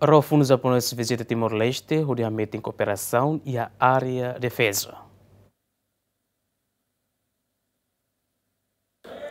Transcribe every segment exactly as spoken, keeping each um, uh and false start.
Ró funu japonés vizita Timor-Leste hodi hametin kooperasaun iha área defeza.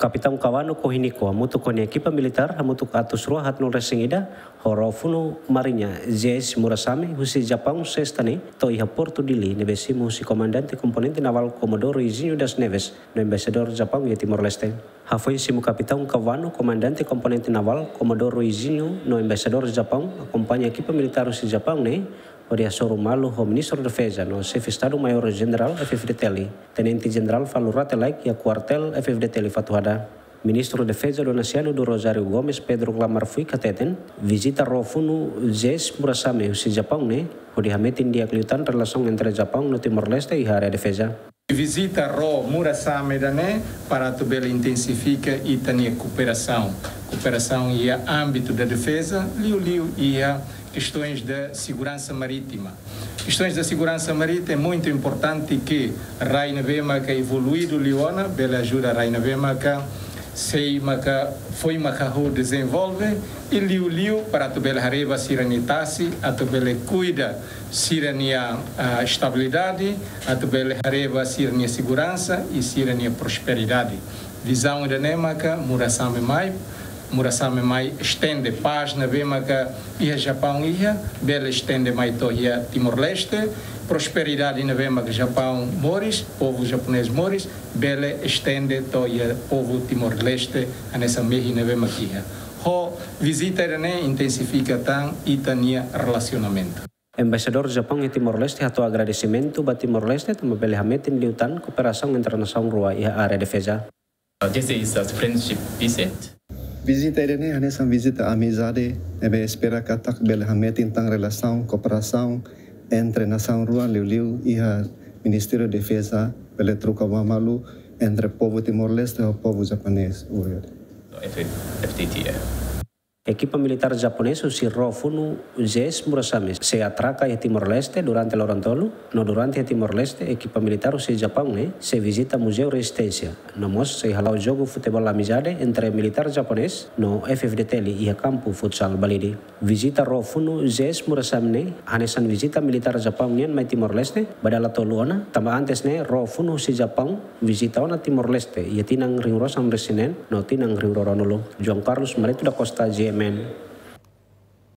Kapitaun Kawano Kohiniko hamutuk ho nia ekipa militár hamutuk atus rua haat nulu resin ida, ho ró funu mariña J S Murasame husi Japaun sesta ne'e to'o iha Portu Dili ne'ebé simu husi Komandante Komponente Navál Comodoro Izinho das Neves no Embaixadór Japaun iha Timor-Leste. Hafoin simu Kapitaun Kawano, Komandante Komponente Navál Comodoro Izinho no Embaixadór Japaun akompaña ekipa militár husi Japaun ne'e hodi hasoru malu ho Ministru Defeza no Xefe Estadu-Maiór Jenerál F-FDTL, Tenente Jenerál Falur Rate Laek iha Kuartél F-FDTL Fatuhada. Ministru Defeza Donasiano do Rosário Gomes Pedro Klamar Fuik hateten, vizita ró funu J S Murasame husi Japaun ne'e hodi hametin di'ak liután relasaun entre Japaun no Timor-Leste iha área defeza. Vizita ró Murasame ida-ne'e para atu bele intensifika ita-nia kooperasaun. Kooperasaun iha ámbitu da defeza, liuliu iha questões da segurança marítima. Questões da segurança marítima é muito importante que rai ne'ebé maka evoluídu liu ona, bele ajuda rai ne'ebé maka sei maka, foin maka ho dezenvolve, i liuliu para atu bele haree ba sira-nia tasi, atu bele kuida sira-nia, ah, estabilidade, atu bele haree ba sira-nia segurança i sira-nia prosperidade. Vizaun ida-ne'e maka Murasame mai, Murasame mai estende pás ne'ebé maka iha Japaun iha, bele estende mai to'o iha Timor-Leste, prosperidade ne'ebé maka Japaun moris, povu japonés moris, bele estende to'o iha povu Timor-Leste, hanesan mehi ne'ebé maka iha. Ho vizita ida-ne'e intensifika tan ita-nia relasionamentu. Embaixadór Japaun iha Timor-Leste hato'o agradesimentu ba Timor-Leste tanba bele hametin liután kooperasaun entre nasaun rua iha área defeza. Uh, this is a friendship visit. Vizita ida-ne'e hanesan vizita amizade, ne'ebé espera katak bele hametin tan relasaun, kooperasaun entre nasaun rua, liuliu iha Ministériu Defeza, bele troka ba malu entre povu Timor-Leste ho povu japonés. Obrigadu. F-, F T T, yeah. Ekipa militár japonés husi ró funu J S Murasame sei atraka iha Timor-Leste durante loron tolu, no durante iha Timor-Leste ekipa militár husi Japaun ne'e sei vizita Muzeu Rezisténsia, no mós sei hala'o jogu futeból amizade entre militár japonés no F-FDTL iha kampu futsal Balide. Vizita ró funu J S Murasame ne'e hanesan vizita militár Japaun nian mai Timor-Leste ba dala tolu ona, tanba antes ne'e ró funu husi Japaun vizita ona Timor-Leste iha tinan rihun rua sanulu resin neen no tinan rihun rua ruanulu. João Carlos Marito da Costa, G M N,